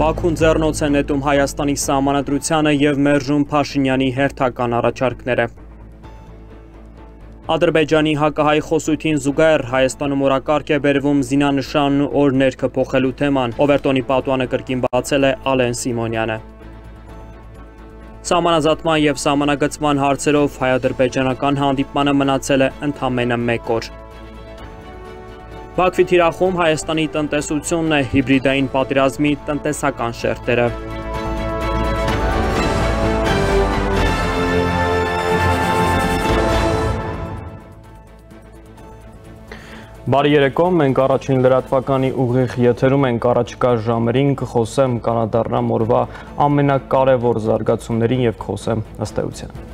Բաքուն ձեռնոց է նետում Հայաստանի սահմանադրությանը և մերժում Փաշինյանի հերթական առաջարկները։ Ադրբեջանի հակահայ խոսույթին զուգահեռ Հայաստանում օրակարգ է բերվում զինանշանն ու օրհներգը փոխելու թեման, Օվերտոնի պատուհանը կրկին բացել է Ալեն Սիմոնյանը։ Սահմանազատման և սահմանագծման հարցերով հայ-ադրբեջանական հանդիպմանը մնացել է ընդամենը 1 օր։ Բաքվի թիրախում Հայաստանի տնտեսությունն է, հիբրիդային պատերազմի տնտեսական շերտերը։ Բարի երեկո, մենք առաջին լրատվականի ուղիղ եթերում ենք, առաջիկա ժամերին կխոսեմ կանադառնամ օրվա ամենակարևոր զարգացումներին և կխոսեմ ըստ էության։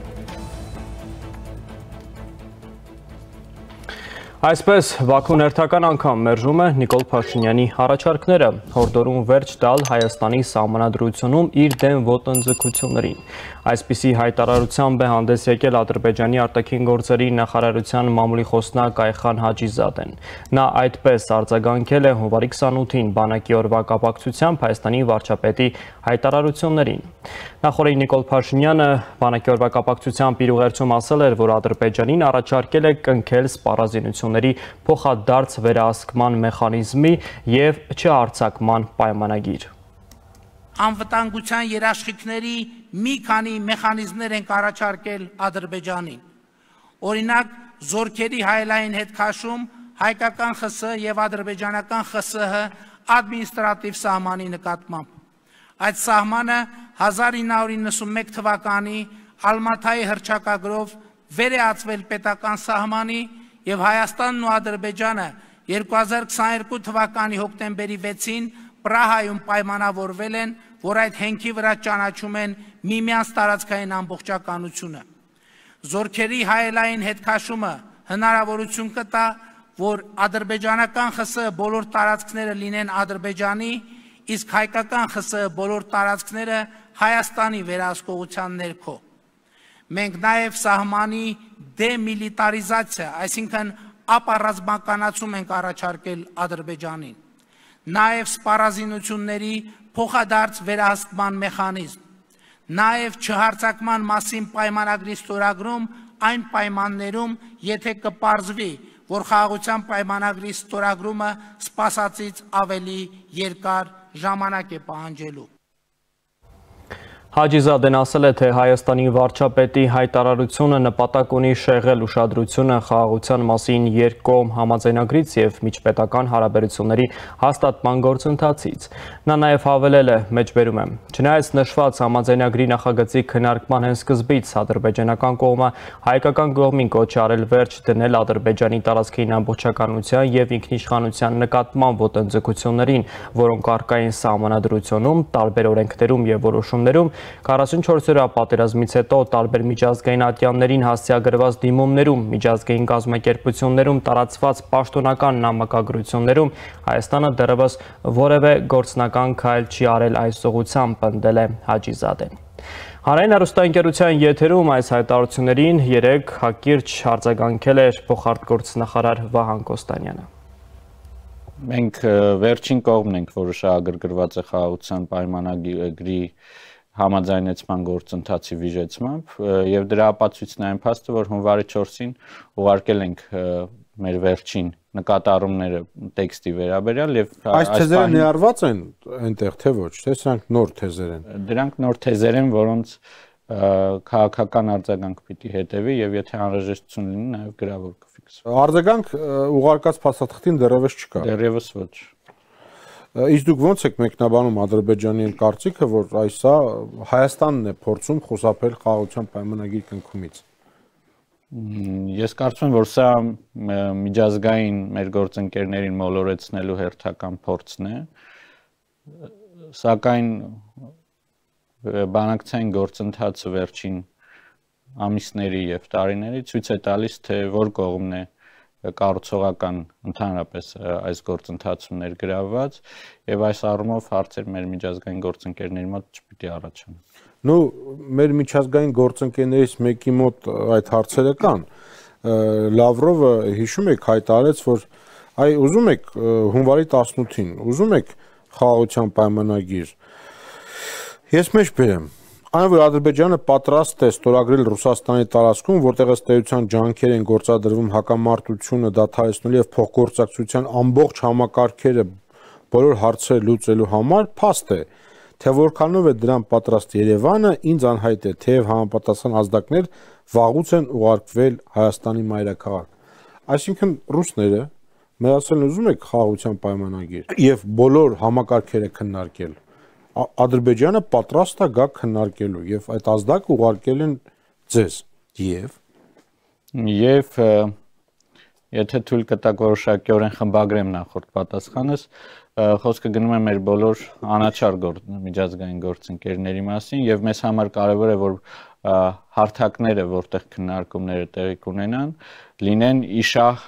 Այսպես, Բաքուն հերթական անգամ մերժում է Նիկոլ Փաշինյանի առաջարկները, հորդորում վերջ տալ Հայաստանի սահմանադրությունում իր դեմ ոտնձգություններին։ Այսպիսի հայտարարությամբ է հանդես եկել Ադրբեջանի արտաքին գործերի նախարարության մամուլի խոսնակ Այխան Հաջիզադեն։ Նա այդպես արձագանքել է հունվարի 28-ին բանակի օրվա կապակցությամբ Հայաստանի վարչապետի հայտարարություններին։ Նախորդին Նիկոլ Փաշինյանը բանակի օրվա կապակցությամբ իր ուղերձում ասել էր, որ Ադրբեջանին առաջարկել է կնքել սպառազինությունների փոխադարձ վերահսկման մեխանիզմի և չհարձակման պայմանագիր։ Անվտանգության երաշխիքների մի քանի մեխանիզմներ ենք առաջարկել Ադրբեջանին։ Օրինակ, զորքերի հայելային հետքաշում հայկական ԽՍՀ և ադրբեջանական ԽՍՀ ադմինիստրատիվ սահմանի նկատմամբ։ Այդ սահմանը 1991 թվականի Ալմաթայի հռչակագրով վերեացվել պետական սահմանի և Հայաստանն ու Ադրբեջանը 2022 թվականի հոկտեմբերի 6-ին Պրահայում պայմանավորվել են, որ այդ հենքի վրա ճանաչում են միմյանց տարածքային ամբողջականությունը։ Զորքերի հայելային հետքաշումը հնարավորություն կտա, որ ադրբեջանական ԽՍՀ բոլոր տարածքները լինեն Ադրբեջանի, իսկ հայկական ԽՍՀ բոլոր տարածքները Հայաստանի վերահսկողության ներքո։ Մենք նաև սահմանի դեմիլիտարիզացիա, այսինքն ապառազմականացում ենք առաջարկել Ադրբեջանին, նաև սպառազինությունների փոխադարձ վերահսկման մեխանիզմ, նաև չհարձակման մասին պայմանագրի ստորագրում այն պայմաններում, եթե կպարզվի, որ խաղաղության պայմանագրի ստորագրումը սպասածից ավելի երկար ժամանակ է պահանջելու։ Հաջիզադեն ասել է, թե Հայաստանի վարչապետի հայտարարությունը նպատակ ունի շեղել ուշադրությունը խաղաղության մասին երկկողմ համաձայնագրից և միջպետական հարաբերությունների հաստատման գործընթացից։ Նա նաև հավելել է, մեջբերում եմ, չնայած նշված համաձայնագրի նախագծի քննարկման հենց սկզբից ադրբեջանական կողմը հայկական կողմին կոչ է արել վերջ դնել Ադրբեջանի տարածքային ամբողջականության և ինքնիշխանության նկատմամբ ոտնձգություններին, որոնք առկա են սահմանադրությունում, տարբեր օրենքներում և որոշումներում, 44-օրյա պատերազմից հետո տարբեր միջազգային ատյաններին հասցեագրված դիմումներում, միջազգային կազմակերպություններում տարածված պաշտոնական նամակագրություններում Հայաստանը դեռևս որևէ գործնական քայլ չի արել այս ուղղությամբ, պնդել է Հաջիզադեն։ Հանրային հեռուստաընկերության եթերում այս հայտարարություններին երեկ հակիրճ արձագանքել էր փոխարտգործնախարար Վահան Կոստանյանը։ Մենք վերջին կողմն ենք, որը շահագրգռված է խաղաղության պայմանագրի համաձայնեցման գործընթացի վիժեցմամբ և դրա ապացույցն է այն փաստը, որ հունվարի 4-ին ուղարկել ենք մեր վերջին նկատառումները տեքստի վերաբերյալ եւ այս թեզերը ներառված են այնտեղ թե ոչ, թե սրանք նոր թեզեր են։ Դրանք նոր թեզեր են, որոնց քաղաքական արձագանք պիտի հետևի եւ եթե անհրաժեշտություն լինի նաեւ գրավոր կֆիքսվի։ Արձագանք ուղարկած փաստաթղթին դեռևս չկա։ Դեռևս ոչ։ Իսկ դուք ոնց եք մեկնաբանում Ադրբեջանի կարծիքը, որ այսա Հայաստանն է փորձում խուսափել խաղաղության պայմանագրի կնքումից։ Ես կարծում եմ, որ սա միջազգային մեր գործընկերներին մոլորեցնելու հերթական փորձն է, սակայն բանակցային գործընթացը վերջին ամիսների եւ տարիների ցույց է տալիս, թե որ կողմն է կառուցողական ընդհանրապես այս գործընթացում ներգրավված եւ այս առումով հարցեր մեր միջազգային գործընկերների մոտ չպիտի առաջանան։ Նու մեր միջազգային գործընկերներից մեկի մոտ այդ հարցերը կան։ Լավրովը հիշում եք հայտարարեց, որ այ ուզում եք հունվարի 18-ին, ուզում եք խաղաղության պայմանագիր, Ես մեջ բերեմ։ Այն որ Ադրբեջանը պատրաստ է ստորագրել Ռուսաստանի տարածքում, որտեղ ըստ էության ջանքեր են գործադրվում հակամարտությունը դադարեցնելու եւ փոխգործակցության ամբողջ համակարգերը բոլոր հարցերը լուծելու համար, փաստ է, թե որքանով է դրան պատրաստ Երևանը, ինձ անհայտ է, թեև համապատասխան ազդակներ վաղուց են ուղարկվել Հայաստանի մայրաքաղաք։ Այսինքն ռուսները մեր ասել ուզում եք խաղաղության պայմանագիր եւ բոլոր համակարգերը քննարկել։ Ադրբեջանը պատրաստ է գա քննարկելու եւ այդ ազդակը ուղարկել են ձեզ եւ եթե թույլ կտակ որոշակիորեն խմբագրեմ նախորդ պատասխանս, խոսքը գնում է մեր բոլոր անաչառ միջազգային գործընկերների մասին եւ մեզ համար կարեւոր է որ հարթակները, որտեղ քննարկումները տեղի կունենան, լինեն իշահ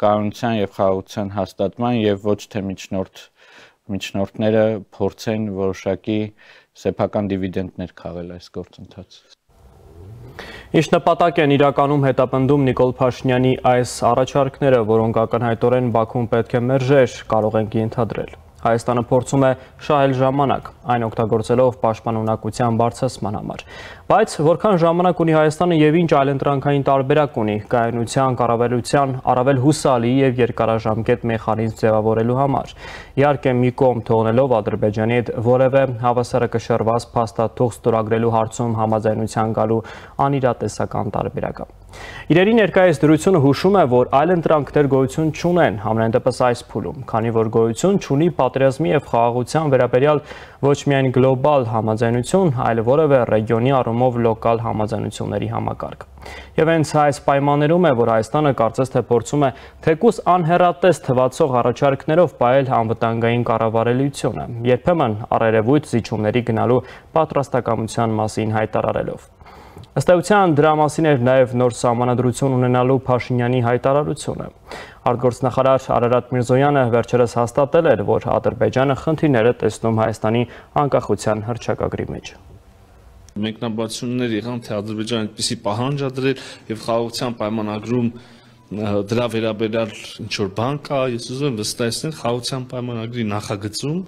կանոնության եւ խաղաղության հաստատման եւ ոչ թե միջնորդները փորձեն որոշակի սեփական դիվիդենդներ քաղել այս գործընթացից։ Ինչ նպատակ են իրականում հետապնդում Նիկոլ Փաշինյանի այս առաջարկները, որոնք ակնհայտորեն Բաքուն պետք է մերժեր, կարող ենք ենթադրել։ Հայաստանը փորձում է շահել ժամանակ, այն օգտագործելով պաշտպանունակության բարձրացման համար։ Բայց որքան ժամանակ ունի Հայաստանը եւ ինչ այլընտրանքային տարբերակ ունի կայունության, կառավարության առավել հուսալի եւ երկարաժամկետ մեխանիզմ ձևավորելու համար։ Իհարկե մի կողմ թողնելով Ադրբեջանի հետ որևէ հավասարակշռված փաստաթուղթ ստորագրելու հարցում համաձայնության գալու անիրատեսական տարբերակը։ Իրերի ներկայիս դրությունը հուշում է, որ այլընտրանքներ գոյություն չունեն, համենայն դեպս այս փուլում, քանի որ գոյություն չունի պատերազմի եւ խաղաղության վերաբերյալ ոչ միայն գլոբալ համաձայնություն, այլ որևէ ռեգիոնի առումով լոկալ համաձայնությունների համակարգ։ Եվ հենց այս պայմաններում է, որ Հայաստանը կարծես թե փորձում է թեկուզ անհեռատես թվացող առաջարկներով պահել անվտանգային կառավարելիությունը, երբեմն առերևույթ զիջումների գնալու պատրաստակամության մասին հայտարարելով։ Ըստ էության դրա մասին էր նաև նոր սահմանադրություն ունենալու Փաշինյանի հայտարարությունը։ Արտգործնախարար Արարատ Միրզոյանը վերջերս հաստատել էր, որ Ադրբեջանը խնդիրներ է տեսնում Հայաստանի անկախության հռչակագրի մեջ։ Մեկնաբանություններ եղան, թե Ադրբեջանը այդպիսի պահանջ ա դրել եւ խաղաղության պայմանագրում դրա վերաբերյալ ինչ որ բան կա, ես ուզում եմ վստահեցնել խաղաղության պայմանագրի նախագծում,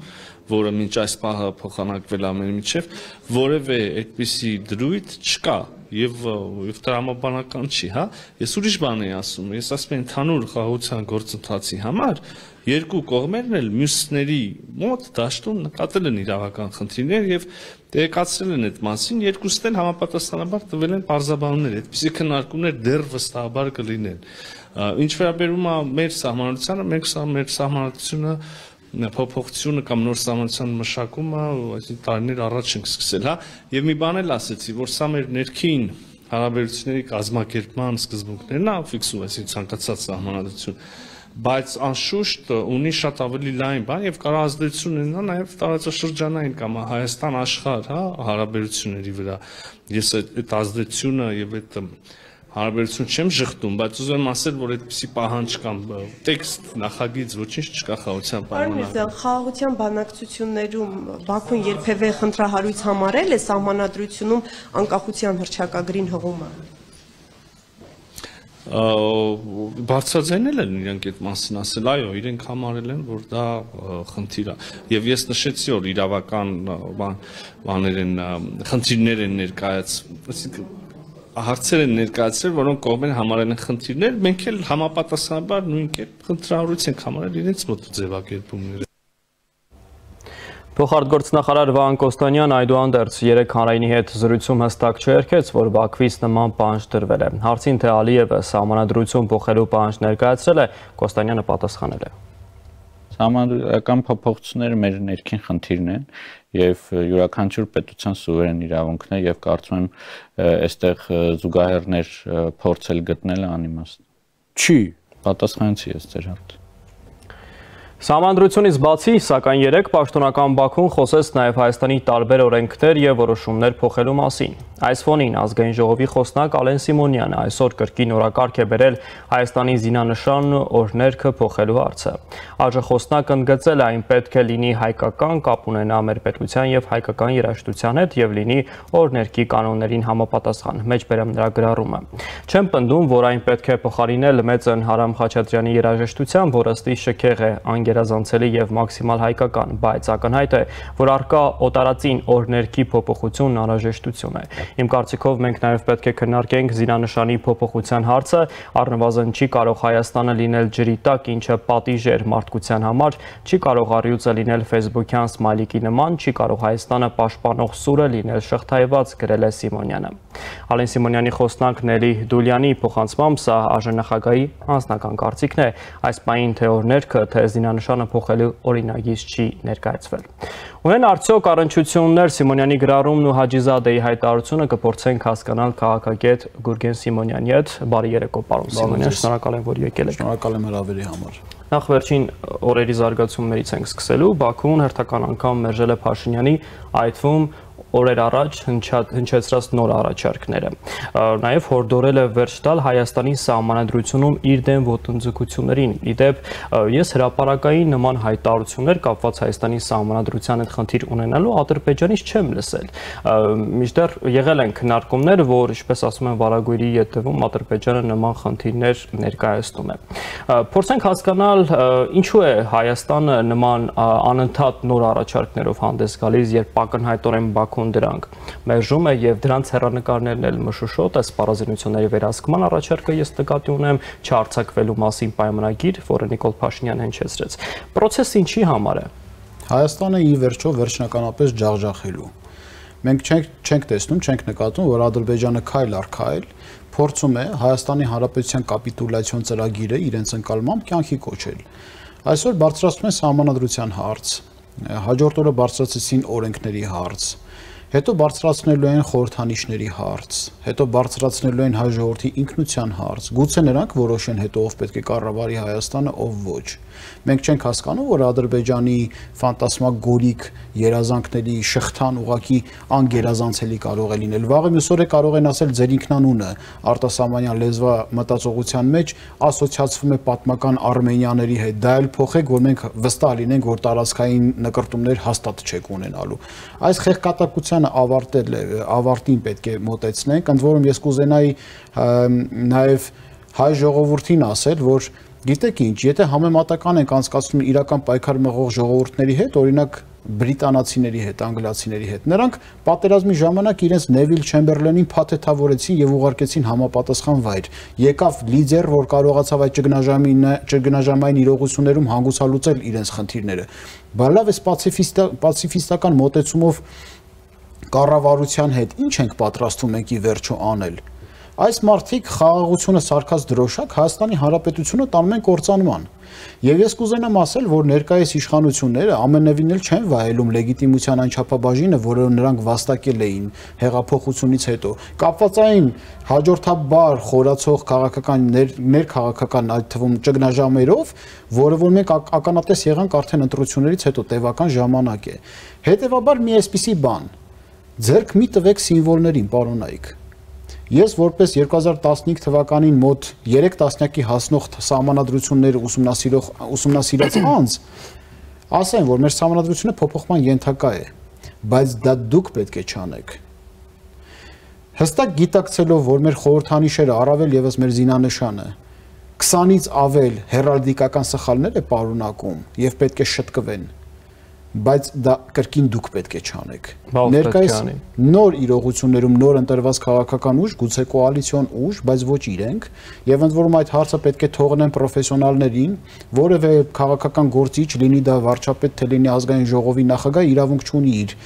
որը մինչ այս պահը փոխանակվել ամենի միջև, որևէ այդպիսի դրույթ չկա եւ տրամաբանական չի, հա։ Ես ուրիշ բան եմ ասում, ես ասում եմ ընդհանուր խաղաղության գործընթացի համար երկու կողմերն էլ մյուսների մոտ դաշտում նկատել են իրավական խնդիրներ եւ տեղեկացրել են այդ մասին, երկուսն էլ համապատասխանաբար տվել են պարզաբանումներ, այդպիսի քննարկումներ դեռ վստահաբար կլինեն։ Ինչ վերաբերում է մեր սահմանադրությանը, մենք մեր սահմանադրությունը փոփոխությունը կամ նոր սահմանության մշակումը, այսինքն տարիներ առաջ ենք սկսել, հա, եւ մի բան էլ ասեցի, որ սա մեր ներքին հարաբերությունների կազմակերպման սկզբունքներն է ֆիքսում, այսինքն ցանկացած սահմանադրություն, բայց անշուշտ ունի շատ ավելի լայն բան եւ կարող ազդեցություն ունենա նաեւ տարածաշրջանային կամ Հայաստան-աշխարհ, հա, հարաբերությունների վրա։ Ես այդ ազդեցությունը եւ այդ հարաբերություն չեմ շղթում, բայց ուզում եմ ասել, որ այդպիսի պահանջ կամ տեքստ նախագիծ ոչինչ չկա խաղաղության պայմանագրում։ Խաղաղության բանակցություններում Բաքուն երբևէ խնդրահարույց համարել է սահմանադրությունում անկախության հռչակագրին հղումը։ Բարձրաձայնել են իրենք այդ մասին ասել, այո, իրենք համարել են, որ դա խնդիր է։ Եվ ես նշեցի, որ իրավական բաներ են, խնդիրներ են ներկայացել, հարցեր են ներկայացրել, որոնք կողմերը համարել են խնդիրներ, մենք էլ համապատասխանաբար նույն կերպ խնդրահարույց ենք համարել իրենց մոտ ձևակերպումները։ Փոխարտգործնախարար Վահան Կոստանյան այդուհանդերձ 3 հանրայինի հետ զրույցում հստակ չերքեց, որ Բաքվից նման պահանջ դրվել է։ Հարցին թե Ալիևը սահմանադրություն փոխելու պահանջ ներկայացրել է, Կոստանյանը պատասխանել է։ Սահմանադրական փոփոխությունները մեր ներքին խնդիրն են եւ յուրաքանչյուր պետության սուվերեն իրավունքն է եւ կարծում եմ այստեղ զուգահեռներ փորձել գտնելը անիմաստ չի։ Պատասխանեցի ես ձեր հարցին։ Սահմանադրությունից բացի, սակայն 3 պաշտոնական Բաքուն խոսեց նաև Հայաստանի տարբեր օրենքներ եւ որոշումներ փոխելու մասին։ Այս ֆոնին ազգային ժողովի խոսնակ Ալեն Սիմոնյանը այսօր կրկին օրակարգ է բերել Հայաստանի զինանշանն ու օրհներգը փոխելու հարցը։ ԱԺ խոսնակը ընդգծել է, այն պետք է լինի հայկական, կապ ունենա մեր պետության եւ հայկական երաժշտության հետ եւ լինի օրհներգի կանոններին համապատասխան։ Մեջբերեմ նրա գրառումը։ Չեմ պնդում, որ այն պետք է փոխարինել մեծն Հարամ Խաչատրյանի երաժշտության, որը ըստ շքեղ է գերազանցելի եւ մաքսիմալ հայկական, բայց ակնհայտ է, որ առկա օտարածին օրներքի փոփոխությունն անհրաժեշտություն է։ Իմ կարծիքով մենք նաեւ պետք է քննարկենք զինանշանի փոփոխության հարցը, առնվազն չի կարող Հայաստանը լինել ջրի տակ, ինչը պատիժ էր մարդկության համար, չի կարող առյուծը լինել Facebook-յան սմայլիկի նման, չի կարող Հայաստանը պաշտպանող սուրը լինել շղթայված, գրել է Սիմոնյանը։ Ալեն Սիմոնյանի խոսնակ Նելի Դուլյանի փոխանցմամբ սա ԱԺՆԽ-ի անձնական կարծիքն է, այս պահին թե օրներքը, թե զինանշանը փոխելու օրինագիծ չի ներկայացվել։ Ունեն արդյոք առնչություններ Սիմոնյանի գրառումն ու Հաջիզադեի հայտարարությունը կփորձենք հասկանալ քաղաքագետ Գուրգեն Սիմոնյանի հետ։ Բարի երեկո, պարոն Սիմոնյան, շնորհակալ եմ, որ եկել եք։ Շնորհակալ եմ հրավերի համար։ Նախ վերջին օրերի զարգացումներից ենք սկսելու։ Բաքուն հերթական անգամ մերժել է Փաշինյանի, այդ թվում օրեր առաջ հնչեցրած նոր առաջարկները։ Նաև հորդորել է վերջ տալ Հայաստանի սահմանադրությունում իր դեմ ոտնձգություններին։ Իդեպ, ես հրապարակային նման հայտարարություններ կապված Հայաստանի սահմանադրության հետ խնդիր ունենալու Ադրբեջանից չեմ լսել։ Մինչդեռ եղել են քննարկումներ, որ, ինչպես ասում են, վարագույրի ետևում Ադրբեջանը նման խնդիրներ ներկայացնում է։ Փորձենք հասկանալ, ինչու է Հայաստանը նման անընդհատ նոր առաջարկներով հանդես գալիս, երբ ակնհայտորեն Բաքուն դրանք մերժում է եւ դրանց հեռանկարներն էլ մշուշոտ է սպառազինությունների վերահսկման առաջարկը ես նկատի ունեմ չարցակվելու մասին պայմանագիր, որը Նիկոլ Փաշինյանը հնչեցրեց։ Պրոցեսը ինչի համար է։ Հայաստանը ի վերջո վերջնականապես ջախջախելու։ Մենք չենք տեսնում, չենք նկատում, որ Ադրբեջանը քայլ առ քայլ փորձում է Հայաստանի Հանրապետության կապիտուլյացիոն ծրագիրը իրենց ընկալմամբ կյանքի կոչել։ Այսօր բարձրացնում են սահմանադրության հարց, հաջորդ օրը բարձրացրեցին օրենքների հարց, հետո բարձրացնելու են խորհրդանիշների հարց, հետո բարձրացնելու են հայ ժողովրդի ինքնության հարց, գուցե նրանք որոշեն հետո ով պետք է կառավարի Հայաստանը, ով ոչ։ Մենք չենք հասկանում, որ Ադրբեջանի ֆանտասմագորիկ երազանքների շղթան ուղակի անգերազանցելի կարող է լինել։ Վաղը մյուս օրը կարող են ասել ձեր ինքնանունը արտասահմանյան լեզվա մտածողության մեջ ասոցիացվում է պատմական արմենիաների հետ, դա էլ փոխեք, որ մենք վստահ լինենք, որ տարածքային նկրտումներ հաստատ չեք ունենալու։ Այս խեղկատակությանը ավարտին պետք է մոտեցնենք, ընդ որում ես կուզենայի նաև հայ ժողովրդին ասել, որ գիտեք ինչ, եթե համեմատական ենք անցկացնում իրական պայքար մղող ժողովուրդների հետ, օրինակ բրիտանացիների հետ, անգլիացիների հետ, նրանք պատերազմի ժամանակ իրենց Նևիլ Չեմբերլենին փաթեթավորեցին եւ ուղարկեցին համապատասխան վայր։ Եկավ լիդեր, որ կարողացավ այդ ճգնաժամային իրողություններում հանգուցալուծել իրենց խնդիրները։ Բայց լավ է պացիֆիստական մոտեցումով կառավարության հետ ինչ ենք պատրաստվում մենք ի վերջո անել։ Այս մարդիկ խաղաղությունը սարքած դրոշակ Հայաստանի Հանրապետությունը տանում են կործանման։ Եվ ես կուզենամ ասել, որ ներկայիս իշխանությունները ամենևին էլ չեն վայելում լեգիտիմության այն չափաբաժինը, որը նրանք վաստակել էին հեղափոխությունից հետո։ Կապվածային հաջորդաբար խորացող քաղաքական ներքաղաքական այդ թվում ճգնաժամերով, որը որ մենք ականատես եղանք արդեն ընտրություններից հետո տևական ժամանակ է։ Հետևաբար մի այսպիսի բան։ Ձերք մի տվեք սիմվոլներին, պարոնայք։ Ես որպես 2015 թվականին մոտ 3 տասնյակի հասնող սահմանադրություններ ուսումնասիրած անձ ասեմ, որ մեր սահմանադրությունը փոփոխման ենթակա է, բայց դա դուք պետք է չանեք։ Հստակ գիտակցելով, որ մեր խորհրդանիշերը, առավել եւս մեր զինանշանը 20-ից ավել հերալդիկական սխալներ է պարունակում եւ պետք է շտկվեն, բայց դա կրկին դուք պետք է չանեք։ Ներկայիս նոր իրողություններում նոր ընտրված քաղաքական ուժ, գուցե կոալիցիոն ուժ, բայց ոչ իրենք, եւ ընդ որում այդ հարցը պետք է թողնեն պրոֆեսիոնալներին, որևէ քաղաքական գործիչ, լինի դա վարչապետ, թե լինի ազգային ժողովի նախագահ, իրավունք չունի իր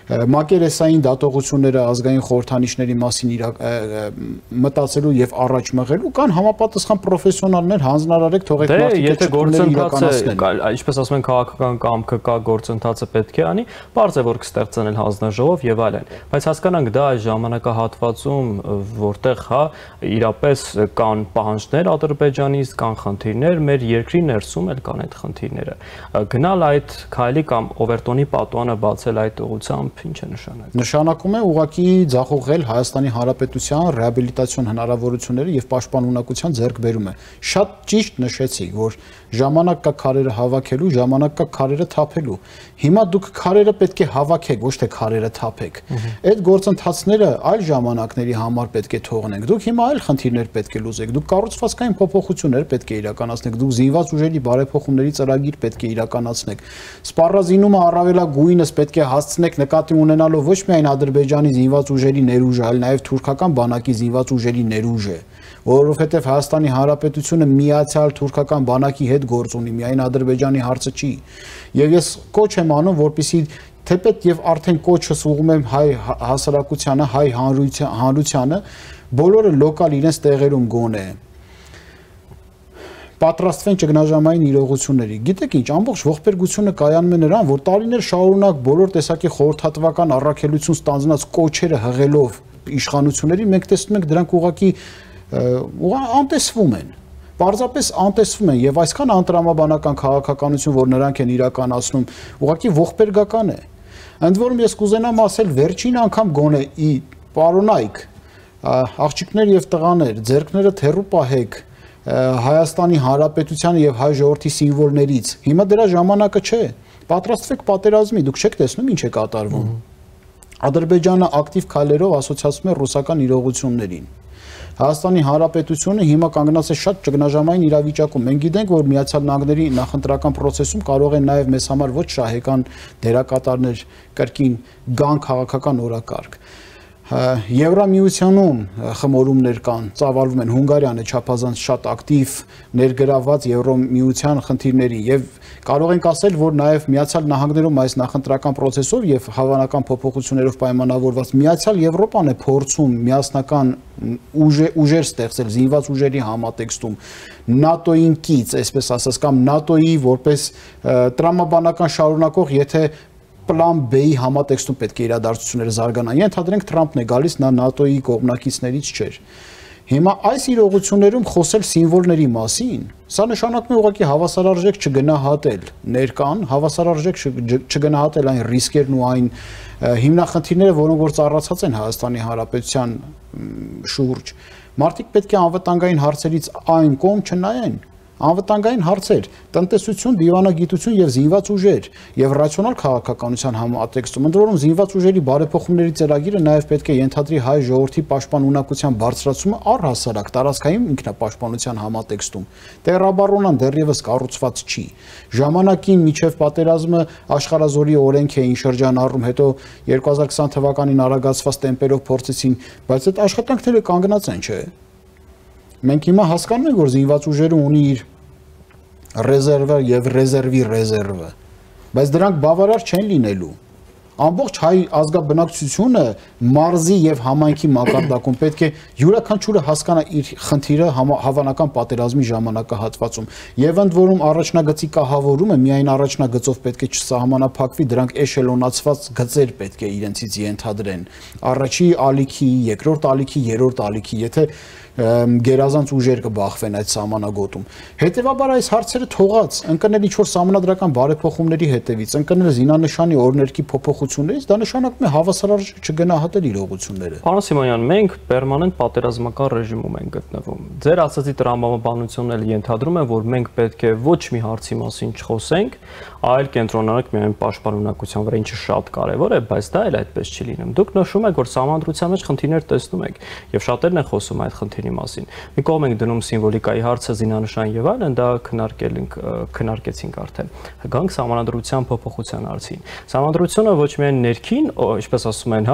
մակերեսային դատողությունները ազգային խորհրդանիշների մասին մտածելու եւ առաջ մղելու կան համապատասխան պրոֆեսիոնալներ հանձնարարեք թողեք մարդիկ իրականացնեն։ Ինչպես ասում են, քաղաքական կամքը կա, գործընթացը պետք է անի, բարձ է որ կստեղծեն հանձնաժողով եւ այլն։ Բայց հասկանանք դա այս ժամանակահատվածում, որտեղ հա իրապես կան պահանջներ Ադրբեջանից, կան խնդիրներ, մեր երկրի ներսում էլ կան այդ խնդիրները։ Գնալ այդ քայլի կամ օվերտոնի պատուանը բացել այդ ուղղությամբ ինչ է նշանակում։ Նշանակում է ուղղակի ձախողել Հայաստանի Հանրապետության ռեաբիլիտացիոն հնարավորությունները եւ պաշտպանունակության ձեռքբերումը։ Շատ ճիշտ նշեցիք, որ ժամանակ կա քարերը հավաքելու, ժամանակ կա քարերը թափելու։ Հիմա դուք քարերը պետք է հավաքեք, ոչ թե քարերը թափեք։ Այդ գործընթացները այլ ժամանակների համար պետք է թողնենք։ Դուք հիմա այլ խնդիրներ պետք է լուծեք։ Դուք կառուցվածքային փոփոխություններ պետք է իրականացնեք։ Դուք զինված ուժերի բարեփոխումների ծրագիր պետք է իրականացնեք։ Սպառազինումը առավելագույնս պետք է հասցնեք նկատի ունենալով ոչ միայն Ադրբեջանի զինված ուժերի ներուժը, այլ նաև թուրքական բանակի զինված ուժերի ներուժը, որովհետև Հայաստանի Հանրապետությունը միացյալ թուրքական բանակի հետ գործ ունի, միայն Ադրբեջանի հարցը չի։ Եվ ես կոչ եմ անում, որպեսզի թեպետ եւ արդեն կոչս ուղղում եմ հայ հասարակությանը, հայ հանրությանը, բոլորը լոկալ իրենց տեղերում գոնե պատրաստվեն ճգնաժամային իրողությունների։ Գիտեք ինչ, ամբողջ ողբերգությունը կայանում է նրան, որ տարիներ շարունակ բոլոր տեսակի խորհրդատվական առաքելություն ստանձնած կոչերը հղելով իշխանությունների, մենք տեսնում ենք դրանք ուղղակի անտեսվում են։ Պարզապես անտեսվում են եւ այսքան անտրամաբանական քաղաքականություն, որ նրանք են իրականացնում, ուղղակի ողբերգական է։ Ընդ որում ես կուզենամ ասել վերջին անգամ գոնե պարոնայք, աղջիկներ եւ տղաներ, ձեռքները թեռու պահեք Հայաստանի Հանրապետության եւ հայ ժողովրդի սիմվոլներից։ Հիմա դրա ժամանակը չէ։ Պատրաստվեք պատերազմի, դուք չեք տեսնում ինչ է կատարվում։ Ադրբեջանը ակտիվ քայլերով ասոցիացվում է ռուսական իրողություններին։ Հայաստանի Հանրապետությունը հիմա կանգնած է շատ ճգնաժամային իրավիճակում։ Մենք գիտենք, որ Միացյալ Նահանգների նախընտրական process-ում կարող են նաև մեզ համար ոչ շահեկան դերակատարներ կրկին գան քաղաքական օրակարգ։ Եվրամիությունում խմորումներ կան, ծավալվում են, Հունգարիան է չափազանց շատ ակտիվ ներգրաված Եվրամիության խնդիրների եւ կարող ենք ասել, որ նաեւ Միացյալ Նահանգներում այս նախընտրական process-ով եւ հավանական փոփոխություններով պայմանավորված Միացյալ Եվրոպան է փորձում միասնական ուժեր ստեղծել զինված ուժերի համատեքստում ՆԱՏՕ-ին կից, այսպես ասած, կամ ՆԱՏՕ-ի որպես տրամաբանական շարունակող, եթե պլան B-ի համատեքստում պետք է իրադարձությունները զարգանան։ Ենթադրենք Թրամփն է գալիս, նա ՆԱՏՕ-ի կողմնակիցներից չէր։ Հիմա այս իրողություններում խոսել սիմվոլների մասին, սա նշանակում է ուղղակի հավասարարժեք չգնահատել ներկան, հավասարարժեք չգնահատել այն ռիսկերն ու այն հիմնախնդիրները, որոնք որ ծառացած են Հայաստանի Հանրապետության շուրջ։ Մարդիկ պետք է անվտանգային հարցերից այն կողմ չնայեն։ Անվտանգային հարցեր, տնտեսություն, դիվանագիտություն եւ զինված ուժեր եւ ռացիոնալ քաղաքականության համատեքստում, ընդ որում զինված ուժերի բարեփոխումների ծրագիրը նաեւ պետք է ենթադրի հայ ժողովրդի պաշտպանունակության բարձրացումը առհասարակ տարածքային ինքնապաշտպանության համատեքստում։ Տերաբարոնան դեռևս կառուցված չի։ Ժամանակին միջև պատերազմը աշխարհազորի օրենք էին շրջանառում, հետո 2020 թվականին արագացված տեմպերով փորձեցին, բայց այդ աշխատանքները կանգնած են, չէ՞։ Մենք հիմա հասկանում ենք, որ զինված ուժերը ունի իր ռեզերվը եւ ռեզերվի ռեզերվը, բայց դրանք բավարար չեն լինելու։ Ամբողջ հայ ազգաբնակչությունը մարզի եւ համայնքի մակարդակում պետք է յուրաքանչյուրը հասկանա իր խնդիրը հավանական պատերազմի ժամանակահատվածում։ Եվ ընդ որում առաջնագծի կահավորումը միայն առաջնագծով պետք է չսահմանափակվի, դրանք էշելոնացված գծեր պետք է իրենցից ենթադրեն։ Առաջի ալիքի, երկրորդ ալիքի, երրորդ ալիքի, եթե գերազանց ուժեր կբախվեն այդ սահմանագոտում։ Հետևաբար այս հարցերը թողած, ընկնել ինչ-որ սահմանադրական բարեփոխումների հետևից, ընկնել զինանշանի օրներքի փոփոխություններից, դա նշանակում է հավասարարժեք չգնահատել իրողությունները։ Պարոն Սիմոնյան, մենք պերմանենտ պատերազմական ռեժիմում ենք գտնվում։ Ձեր ասացի տրամաբանությունն էլ ենթադրում է, որ մենք պետք է ոչ մի հարցի մասին չխոսենք, այլ կենտրոնանանք միայն պաշտպանունակության վրա, ինչը շատ կարևոր է, բայց դա էլ այդպես չի լինում։ Դուք նշում եք, որ սահմանադրության մեջ խնդիրներ տեսնում եք, եւ շատերն են խոսում այդ խնդիրի մասին։ Մի կողմ ենք դնում սիմվոլիկայի հարցը, զինանշան եւ այլն, դա քննարկեցինք արդեն։ Գանք սահմանադրության փոփոխության հարցին։ Սահմանադրությունը ոչ միայն ներքին, ինչպես ասում են,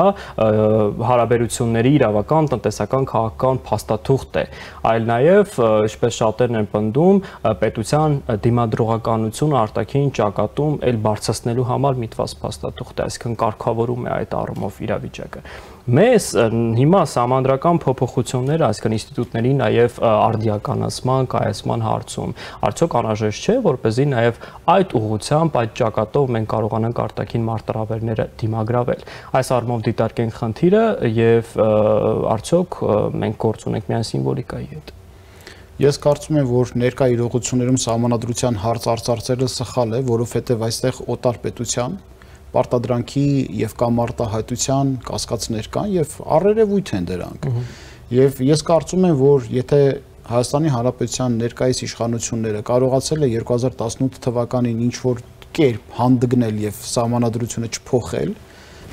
հարաբերությունների իրավական, տնտեսական, քաղաքական փաստաթուղթ է, այլ նաեւ, ինչպես շատերն են պնդում, պետության դիմադրողականությունը արտաքին ճակատում էլ բարձրացնելու համար միտված փաստաթուղթ է, այսինքն կարգավորում է այդ առումով իրավիճակը։ Մեզ հիմա սահմանադրական փոփոխությունները, այսինքն ինստիտուտների նաև արդիականացման, կայացման հարցում, արդյոք անհրաժեշտ չէ, որպեսզի նաև այդ ուղղությամբ, այդ ճակատով մենք կարողանանք արտաքին մարտահրավերները դիմագրավել։ Այս առումով դիտարկենք խնդիրը եւ արդյոք մենք գործ ունենք միայն սիմվոլիկայի հետ։ Ես կարծում եմ, որ ներկա իրողություններում սահմանադրության հարց արծարծելը սխալ է, որովհետև այստեղ օտար պետության պարտադրանքի եւ կամ արտահայտության կասկածներ կան եւ առերևույթ են դրանք։ Եվ ես կարծում եմ, որ եթե Հայաստանի Հանրապետության ներկայիս իշխանությունները կարողացել է 2018 թվականին ինչ-որ կերպ հանդգնել եւ սահմանադրությունը չփոխել,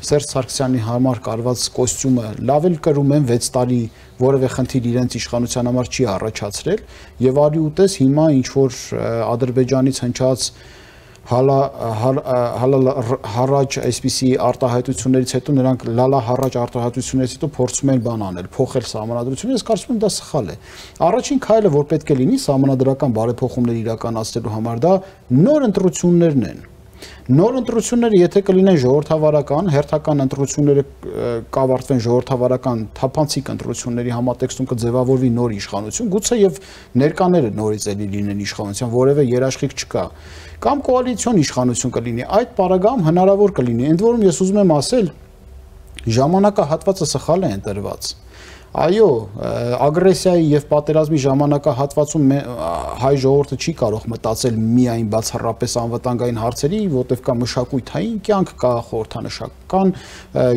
Սերժ Սարգսյանի համար կարված կոստյումը լավ էլ կրում են 6 տարի որևէ խնդիր իրենց իշխանության համար չի առաջացրել եւ արի ուտես հիմա ինչ-որ Ադրբեջանից հնչած հալա-հառաջ այսպիսի արտահայտություններից հետո նրանք լալա-հառաջ արտահայտություններից հետո փորձում են բան անել, փոխել սահմանադրությունը, ես կարծում եմ դա սխալ է։ Առաջին քայլը, որ պետք է լինի սահմանադրական բարեփոխումներ իրականացնելու համար, դա նոր ընտրություններն են։ Նոր ընտրությունները եթե կլինեն ժողովրդավարական, հերթական ընտրությունները կավարտվեն ժողովրդավարական թափանցիկ ընտրությունների համատեքստում կձևավորվի նոր իշխանություն, գուցե եւ ներկաները նորից էլի լինեն իշխանության, որևէ երաշխիք չկա, կամ կոալիցիոն իշխանություն կլինի, այդ պարագայում հնարավոր կլինի։ Ընդ որում ես ուզում եմ ասել, ժամանակահատվածը սխալ է ընտրված։ Այո, ագրեսիայի եւ պատերազմի ժամանակահատվածում հայ ժողովուրդը չի կարող մտածել միայն բացառապես անվտանգային հարցերի, որտեղ կա մշակութային կյանք, կա խորհրդանշական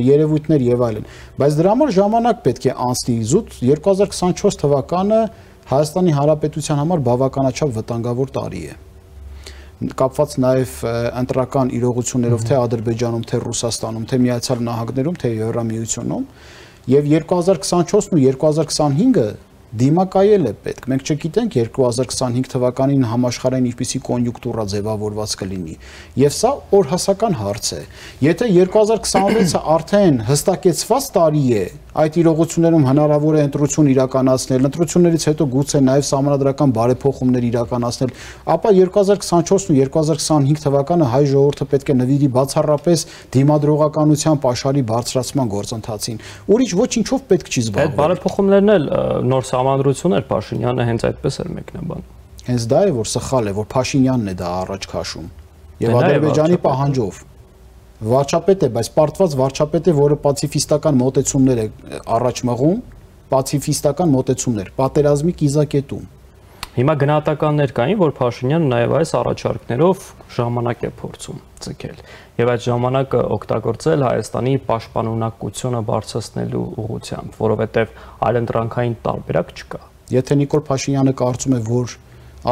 երևույթներ եւ այլն։ Բայց դրա համար ժամանակ պետք է անցնի զուտ 2024 թվականը Հայաստանի Հանրապետության համար բավականաչափ վտանգավոր տարի է։ Կապված նաեւ ընտրական իրողություններով թե Ադրբեջանում, թե Ռուսաստանում, թե Միացյալ Նահանգներում, թե Եվրամիությունում Եվ 2024-ն ու 2025-ը դիմակայել է պետք։ Մենք չգիտենք 2025 թվականին համաշխարհային ինչպիսի կոնյունկտուրա ձևավորված կլինի։ Եվ սա օրհասական հարց է։ Եթե 2026-ը արդեն հստակեցված տարի է, այդ իրողություններում հնարավոր է ընտրություն իրականացնել, ընտրություններից հետո գուցե նաև սահմանադրական բարեփոխումներ իրականացնել, ապա 2024-ն ու 2025 թվականը հայ ժողովուրդը պետք է նվիրի բացառապես դիմադրողականության պաշարի բարձրացման գործընթացին։ Ուրիշ ոչինչով պետք չի զբաղվել։ Այդ բարեփոխումներն էլ նոր սահմանադրություն էր, Փաշինյանը հենց այդպես էր մեկնաբան։ Հենց դա է, որ սխալ է, որ Փաշինյանն է դա առաջ քաշում։ Եվ Ադրբեջանի պահանջով վարչապետ է, բայց պարտված վարչապետ է, որը պացիֆիստական մոտեցումներ է առաջ մղում, պացիֆիստական մոտեցումներ, պատերազմի կիզակետում։ Հիմա գնահատականներ կային, որ Փաշինյանը նաև այս առաջարկներով ժամանակ է փորձում ցկել եւ այդ ժամանակը օգտագործել Հայաստանի պաշտպանունակությունը բարձրացնելու ուղղությամբ, որովհետեւ այլընտրանքային տարբերակ չկա։ Եթե Նիկոլ Փաշինյանը կարծում է, որ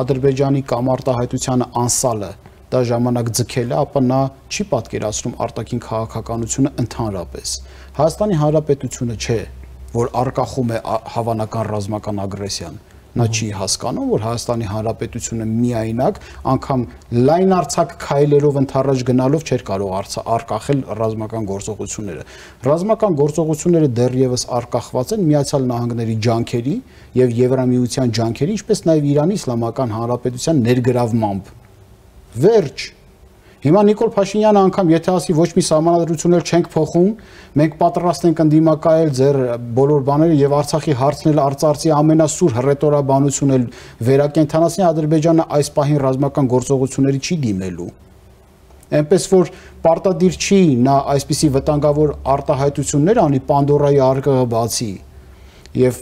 Ադրբեջանի կամ արտահայտությանը անսալը դա ժամանակ ձգել է, ապա նա չի պատկերացնում արտաքին քաղաքականությունը ընդհանրապես։ Հայաստանի Հանրապետությունը չէ, որ արկախում է հավանական ռազմական ագրեսիան։ Նա չի հասկանում, որ Հայաստանի Հանրապետությունը միայնակ անգամ լայնարձակ քայլերով ընդառաջ գնալով չէր կարող արկախել ռազմական գործողությունները։ Ռազմական գործողությունները դեռևս արկախված են Միացյալ Նահանգների ջանքերի եւ Եվրամիության ջանքերի, ինչպես նաեւ Իրանի Իսլամական Հանրապետության ներգրավմամբ։ Վերջ։ Հիմա Նիկոլ Փաշինյանը անգամ եթե ասի ոչ մի սահմանադրություններ չենք փոխում, մենք պատրաստ ենք ընդդիմակայել ձեր բոլոր բաները եւ Արցախի հարցն էլ արծարծի ամենասուր հռետորաբանությունն էլ վերակենդանացնի, Ադրբեջանը այս պահին ռազմական գործողությունների չի դիմելու։ Այնպես որ պարտադիր չի նա այսպիսի վտանգավոր արտահայտություններ անի Պանդորայի արկղը բացի եւ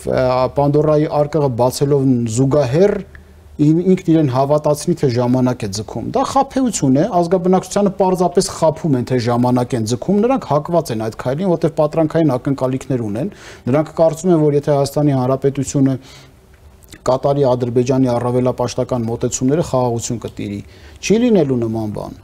Պանդորայի արկղը բացելով զուգահեռ ինքն իրեն հավատացնի, թե ժամանակ է ձգում։ Դա խաբեություն է, ազգաբնակչությանը պարզապես խաբում են, թե ժամանակ են ձգում, նրանք հակված են այդ քայլին, որտեղ պատրանքային ակնկալիքներ ունեն։ Նրանք կարծում են, որ եթե Հայաստանի Հանրապետությունը կատարի Ադրբեջանի առավելապաշտական մոտեցումները, խաղաղություն կտիրի։ Չի լինելու նման բան։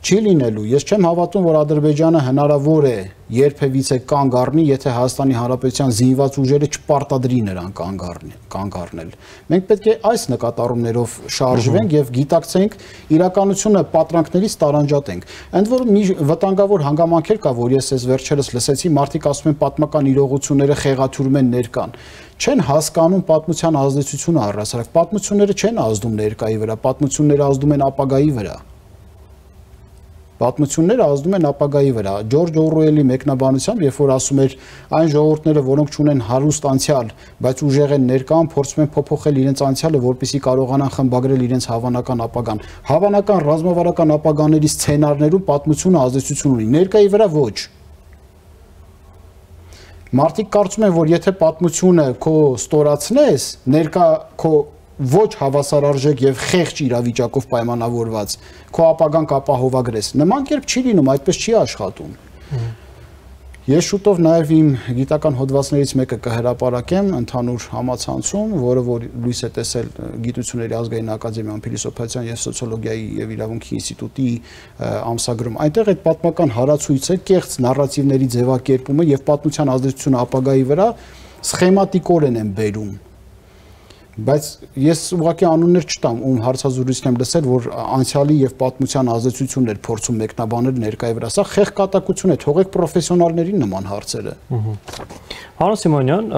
Չի լինելու։ Ես չեմ հավատում, որ Ադրբեջանը հնարավոր է երբևիցե կանգ առնի, եթե Հայաստանի Հանրապետության զինված ուժերը չպարտադրի նրան կանգ առնել։ Մենք պետք է այս նկատառումներով շարժվենք եւ գիտակցենք իրականությունը պատրանքներից տարանջատենք։ Ընդ որում մի վտանգավոր հանգամանքեր կա, որ ես այս վերջերս լսեցի, մարդիկ ասում են պատմական իրողությունները խեղաթյուրում են ներկան։ Չեն հասկանում պատմության ազդեցությունը առհասարակ։ Պատմությունները չեն ազդում ներկայի վրա, պատմությունները ազդում են ապագայի վրա։ Պատմությունները ազդում են ապագայի վրա։ Ջորջ Օրուելի մեկնաբանությամբ, երբ որ ասում էր այն ժողովուրդները, որոնք ունեն հարուստ անցյալ, բայց ուժեղ են ներկան, փորձում են փոփոխել իրենց անցյալը, որպեսզի կարողանան խմբագրել իրենց հավանական ապագան։ Հավանական ռազմավարական ապագաների սցենարներում պատմությունը ազդեցություն ունի, ներկայի վրա ոչ։ Մարդիկ կարծում են, որ եթե պատմությունը քո ստորացնես, ներկա քո ոչ հավասարարժեք եւ խեղճ իրավիճակով պայմանավորված քո ապագան կապահովագրես։ Նման կերպ չի լինում, այդպես չի աշխատում։ Ես շուտով նաև իմ գիտական հոդվածներից մեկը կհրապարակեմ ընդհանուր համացանցում, որը որ լույս է տեսել Գիտությունների ազգային ակադեմիան փիլիսոփայության եւ սոցիոլոգիայի եւ իրավունքի ինստիտուտի ամսագրում։ Այնտեղ այդ պատմական հարացույցը կեղծ նարատիվների ձևակերպումը եւ պատմության ազդեցությունը ապագայի վրա սխեմատիկորեն են բերում։ Բայց ես ուղղակի անուններ չտամ, ում հարցազրույցն եմ լսել, որ անցյալի եւ պատմության ազդեցություններ փորձում մեկնաբանել ներկայի վրա։ Սա խեղկատակություն է, թողեք պրոֆեսիոնալներին նման հարցերը։ Հանո Սիմոնյան,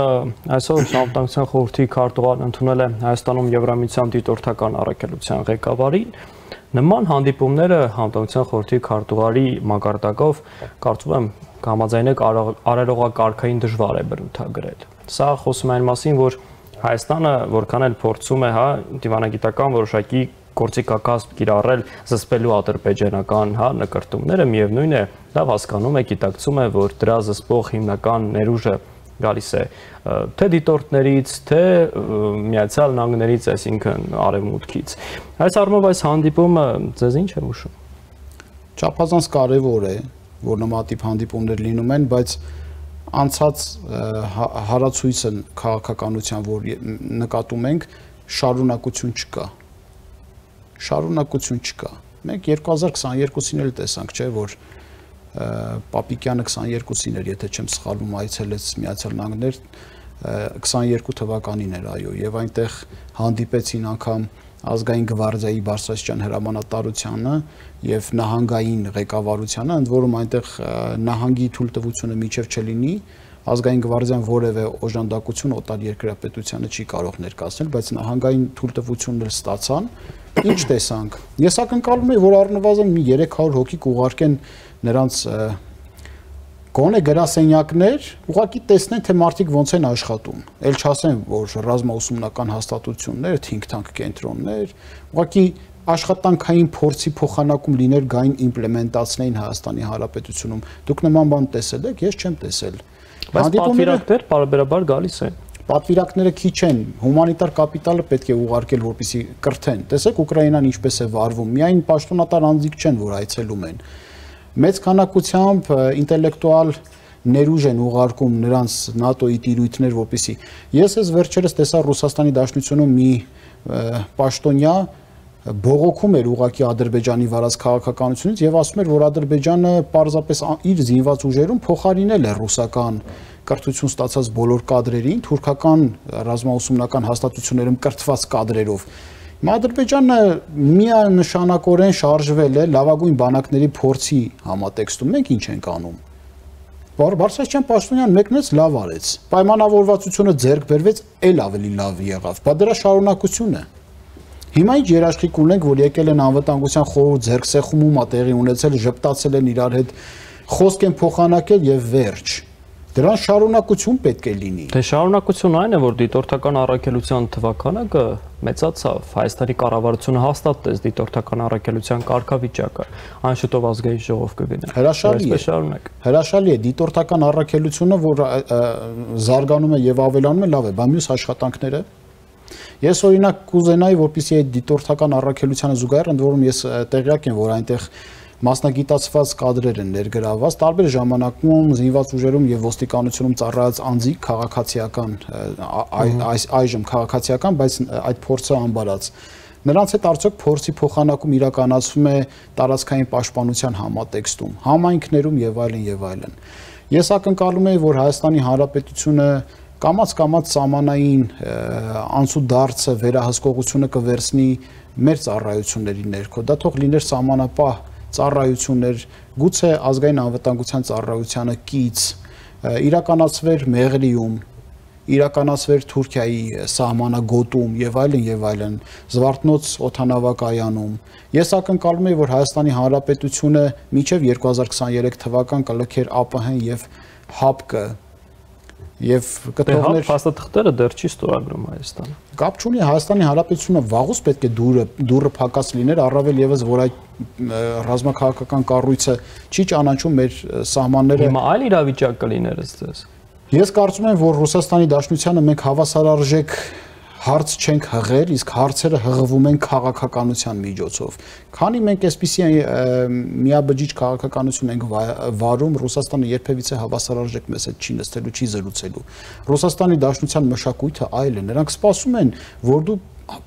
այսօր Անվտանգության խորհրդի քարտուղարն ընդունել է Հայաստանում Եվրամիության դիտորդական առաքելության ղեկավարին։ Նման հանդիպումները Անվտանգության խորհրդի քարտուղարի մակարդակով կարծում եմ համաձայնեք արարողակարգային դժվար է բնութագրել։ Սա խոսում է այն մասին, որ Հայաստանը որքան էլ փորձում է, դիվանագիտական որոշակի գործիքակազմ կիրառել զսպելու ադրբեջանական, նկրտումները, միևնույն է, լավ հասկանում է, գիտակցում է, որ դրա զսպող հիմնական ներուժը գալիս է թե դիտորդներից, թե Միացյալ Նահանգներից, այսինքն արևմուտքից։ Այս առումով այս հանդիպումը ձեզ ինչ է հուշում։ Չափազանց կարևոր է, որ նմանատիպ հանդիպումներ լինում են, բայց անցած հարացույցը քաղաքականության, որ նկատում ենք, շարունակություն չկա։ Շարունակություն չկա։ Մենք 2022-ին էլ տեսանք, չէ, որ Պապիկյանը 22-ին էր, եթե չեմ սխալվում, այցելեց Միացյալ Նահանգներ, 22 թվականին էր, այո, եւ այնտեղ հանդիպեցին անգամ ազգային գվարդիայի բարձրաստիճան հրամանատարությանը եւ նահանգային ղեկավարությանը, ընդ որում այնտեղ նահանգի թույլտվությունը միջև չլինի, ազգային գվարդիան որևէ օժանդակություն օտար երկրապետությանը չի կարող ներկայացնել, բայց նահանգային թույլտվությունն էլ ստացան։ Ինչ տեսանք։ Ես ակնկալում եմ, որ առնվազն մի 300 հոգի կուղարկեն նրանց գոնե գրասենյակներ, ուղղակի տեսնեն, թե մարդիկ ոնց են աշխատում։ Էլ չասեմ, որ ռազմաուսումնական հաստատություններ, think tank կենտրոններ, ուղղակի աշխատանքային փորձի փոխանակում լիներ գային իմպլեմենտացնեին Հայաստանի Հանրապետությունում։ Դուք նման բան տեսել եք, ես չեմ տեսել։ Բայց պատվիրակներ բարբերաբար գալիս են։ Պատվիրակները քիչ են, հումանիտար կապիտալը պետք է ուղարկել, որպեսզի կրթեն։ Տեսեք Ուկրաինան ինչպես է վարվում։ Միայն պաշտոնատար անձիկ չեն, որ այցելում են։ Մեծ քանակությամբ ինտելեկտուալ ներուժ են ուղարկում նրանց ՆԱՏՕ-ի տիրույթներ, որպեսզի ես ես վերջերս տեսա Ռուսաստանի Դաշնությունում մի պաշտոնյա բողոքում էր ուղղակի Ադրբեջանի վարած քաղաքականությունից եւ ասում էր, որ Ադրբեջանը պարզապես իր զինված ուժերում փոխարինել է ռուսական կրթություն ստացած բոլոր կադրերին, թուրքական ռազմաուսումնական հաստատություններում կրթված կադրերով։ Ադրբեջանը միանշանակորեն շարժվել է լավագույն բանակների փորձի համատեքստում։ Մենք ինչ ենք անում։ Բարձրաստիճան պաշտոնյան մեկնեց, լավ արեց։ Պայմանավորվածությունը ձեռք բերվեց, էլ ավելի լավ եղավ։ Բա դրա շարունակություն է։ Հիմա ինչ երաշխիք ունենք, որ եկել են անվտանգության խորհուրդ ձեռքսեղումում ա տեղի ունեցել, ժպտացել են իրար հետ, խոսք են փոխանակել եւ վերջ։ Դրան շարունակություն պետք է լինի։ Դե շարունակությունը այն է, որ դիտորդական առաքելության թվականակը մեծացավ, Հայաստանի կառավարությունը հաստատեց դիտորդական առաքելության կարգավիճակը, այն շուտով ազգային ժողով կգնա։ Հրաշալի է դիտորդական առաքելությունը, որ զարգանում է եւ ավելանում է, լավ է, բայց մյուս աշխատանքները ես օրինակ կուզենայի, որպեսզի այդ դիտորդական առաքելությանը զուգահեռ, ընդ որում ես տեղյակ եմ, որ այնտեղ մասնագիտացված կադրեր են ներգրավված, տարբեր ժամանակում զինված ուժերում եւ ոստիկանությունում ծառայած անձիկ քաղաքացիական, այժմ քաղաքացիական, բայց այդ փորձը անբարած։ Նրանց հետ արդյոք փորձի փոխանակում իրականացվում է տարածքային պաշտպանության համատեքստում, համայնքներում եւ այլն եւ այլն։ Ես ակնկալում եմ, որ Հայաստանի Հանրապետությունը կամաց սահմանային անցուդարձը վերահսկողությունը կվերցնի մեր ծառայությունների ներքո։ Դա թող լիներ սահմանապահ ծառայություններ, գուցե ազգային անվտանգության ծառայությանը կից, իրականացվեր Մեղրիում, իրականացվեր Թուրքիայի սահմանագոտում եւ այլն, Զվարթնոց օդանավակայանում։ Ես ակնկալում եմ, որ Հայաստանի Հանրապետությունը մինչեւ 2023 թվական կլքեր ԱՊՀ-ն եւ ՀԱՊԿ եւ կթողներ փաստաթղթերը դեռ չի ստորագրում Հայաստանը։ Կապ չունի, Հայաստանի Հանրապետությունը վաղուց պետք է դուրը փակած լիներ, առավել եւս որ այդ ռազմաքաղաքական կառույցը չի ճանաչում մեր սահմանները։ Հիմա այլ իրավիճակ կլիներ ըստ ձեզ։ Ես կարծում եմ, որ Ռուսաստանի Դաշնությանը մենք հավասարարժեք հարց չենք հղել, իսկ հարցերը հղվում են քաղաքականության միջոցով։ Քանի մենք այսպիսի միաբջիջ քաղաքականություն ենք վարում, Ռուսաստանը երբևիցե հավասարարժեք մեզ հետ չի նստելու, չի զրուցելու։ Ռուսաստանի Դաշնության մշակույթը այլ է։ Նրանք սպասում են, որ դու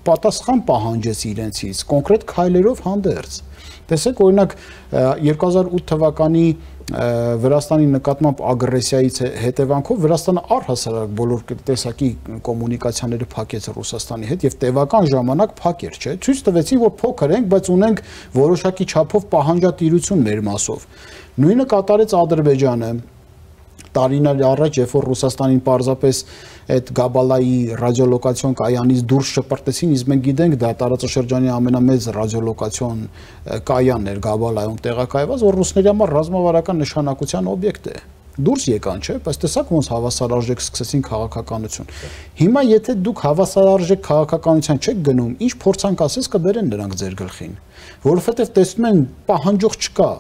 պատասխան պահանջես իրենցից, կոնկրետ քայլերով հանդերձ։ Տեսեք, օրինակ 2008 թվականի Վրաստանի նկատմամբ ագրեսիայից հետևանքով Վրաստանը առհասարակ բոլոր տեսակի կոմունիկացիաները փակեց Ռուսաստանի հետ եւ տևական ժամանակ փակեր, չէ՞։ Ցույց տվեցին, որ փոքր ենք, բայց ունենք որոշակի չափով պահանջատիրություն մեր մասով։ Նույնը կատարեց Ադրբեջանը տարիներ առաջ, երբ որ Ռուսաստանին պարզապես այդ Գաբալայի ռադիոլոկացիոն կայանից դուրս շպրտեցին, իսկ մենք գիտենք դա տարածաշրջանի ամենամեծ ռադիոլոկացիոն կայանն էր Գաբալայում տեղակայված, որ ռուսների համար ռազմավարական նշանակության օբյեկտ է։ Դուրս եկան, չէ՞, բայց տեսակ ոնց հավասարարժեք սկսեցին քաղաքականություն։ Հիմա եթե դուք հավասարարժեք քաղաքականության չեք գնում, ինչ փորձանք ասես կբերեն նրանք ձեր գլխին, որովհետև տեսնում են պահանջող չկա,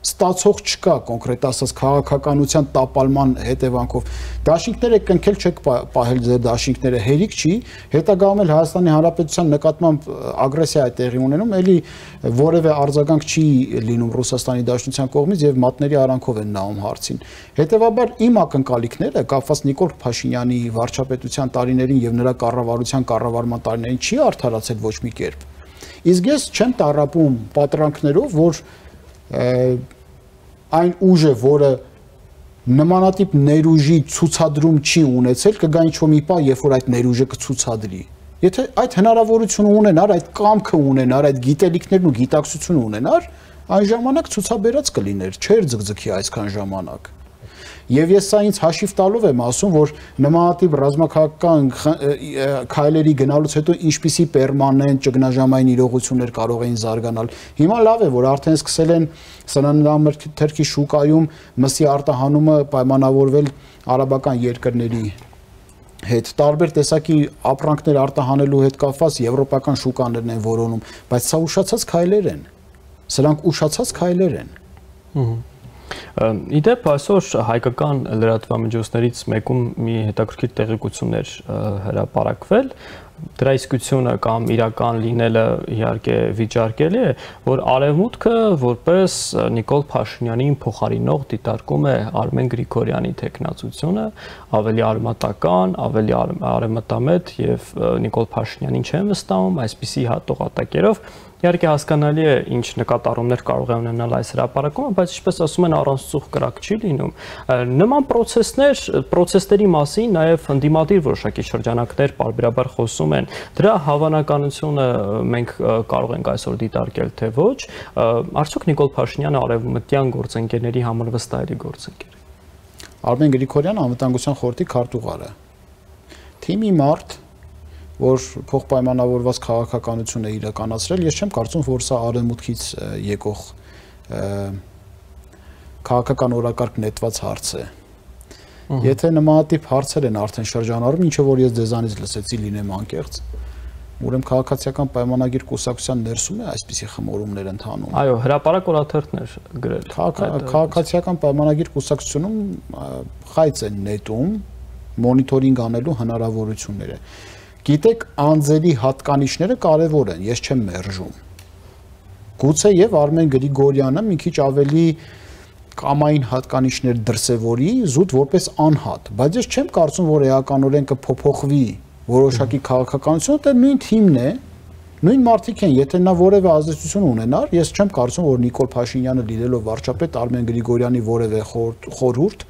ստացող չկա, կոնկրետ ասած քաղաքականության տապալման հետևանքով։ Դաշինքները կնքել չեք պահել ձեր դաշինքները, հերիք չի, հետագայում էլ Հայաստանի Հանրապետության նկատմամբ ագրեսիա է տեղի ունենում, էլի որևէ արձագանք չի լինում Ռուսաստանի Դաշնության կողմից եւ մատների արանքով են նայում հարցին։ Հետևաբար իմ ակնկալիքները կապված Նիկոլ Փաշինյանի վարչապետության տարիներին եւ նրա կառավարման տարիներին չի արդարացել ոչ մի կերպ։ Իսկ ես չեմ տառապում պատրանքներով, որ այն ուժը, որը նմանատիպ ներուժի ցուցադրում չի ունեցել, կգա ինչ-որ մի պահ, երբ որ այդ ներուժը կցուցադրի։ Եթե այդ հնարավորությունը ունենար, այդ կամքը ունենար, այդ գիտելիքներն ու գիտակցությունը ունենար, այն ժամանակ ցուցաբերած կլիներ, չէր ձգձգի այսքան ժամանակ։ Եվ ես սա ինձ հաշիվ տալով եմ ասում, որ նմանատիպ ռազմաքաղաքական քայլերի գնալուց հետո ինչպիսի պերմանենտ ճգնաժամային իրողություններ կարող էին զարգանալ։ Հիմա լավ է, որ արդեն սկսել են սննդամթերքի շուկայում մսի արտահանումը պայմանավորվել արաբական երկրների հետ, տարբեր տեսակի ապրանքներ արտահանելու հետ կապված եվրոպական շուկաներն են որոնում, բայց սա ուշացած քայլեր են։ Սրանք ուշացած քայլեր են։ Իդեպ այսօր հայկական լրատվամիջոցներից մեկում մի հետաքրքիր տեղեկություններ հրապարակվել, դրա իսկությունը կամ իրական լինելը իհարկե վիճարկելի է, որ Արևմուտքը որպես Նիկոլ Փաշինյանին փոխարինող դիտարկում է Արմեն Գրիգորյանի թեկնածությունը, ավելի արմատական, ավելի արևմտամետ եւ Նիկոլ Փաշինյանին չեն վստահում այսպիսի հատողատակերով։ Իհարկե հասկանալի է ինչ նկատառումներ կարող է ունենալ այս հրապարակումը, բայց ինչպես ասում են առանց ծուխ կրակ չի լինում։ Նման պրոցեսների մասին նաև ընդդիմադիր որոշակի շրջանակներ պարբերաբար խոսում են։ Դրա հավանականությունը մենք կարող ենք այսօր դիտարկել թե ոչ։ Արդյոք Նիկոլ Փաշինյանը արևմտյան գործընկերների համար վստահելի գործընկեր է։ Արմեն Գրիգորյանը անվտանգության խորհրդի քարտուղար է։ Թիմի մարդ, որ փոխպայմանավորված քաղաքականություն է իրականացրել, ես չեմ կարծում, որ սա արևմուտքից եկող քաղաքական օրակարգ նետված հարց է։ Եթե նմանատիպ հարցեր են արդեն շրջանառում, ինչը որ ես ձեզանից լսեցի, լինեմ անկեղծ, ուրեմն քաղաքացիական պայմանագիր կուսակցության ներսում է այսպիսի խմորումներ ընթանում։ Այո, հրապարակ օրաթերթներ գրել։ Քաղաքացիական պայմանագիր կուսակցությունում խայծ են նետում մոնիտորինգ անելու հնարավորությունները։ Գիտեք, անձերի հատկանիշները կարևոր են, ես չեմ մերժում։ Գուցե եւ Արմեն Գրիգորյանը մի քիչ ավելի կամային հատկանիշներ դրսևորի, զուտ որպես անհատ, բայց ես չեմ կարծում, որ էականորեն կփոփոխվի որոշակի քաղաքականությունը, դա նույն թիմն է, նույն մարդիկ են, եթե նա որևէ ազդեցություն ունենար, ես չեմ կարծում, որ Նիկոլ Փաշինյանը լինելով վարչապետ Արմեն Գրիգորյանի որևէ խորհուրդ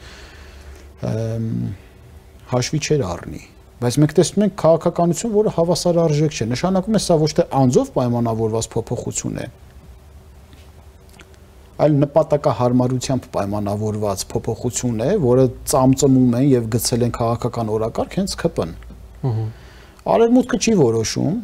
հաշվի չեր առնի։ Բայց մենք տեսնում ենք քաղաքականություն, որը հավասարարժեք չէ, նշանակում է սա ոչ թե անձով պայմանավորված փոփոխություն է, այլ նպատակահարմարությամբ պայմանավորված փոփոխություն է, որը ծամծմում են եւ գցել են քաղաքական օրակարգ հենց ԿՊ-ն։ Արևմուտքը չի որոշում,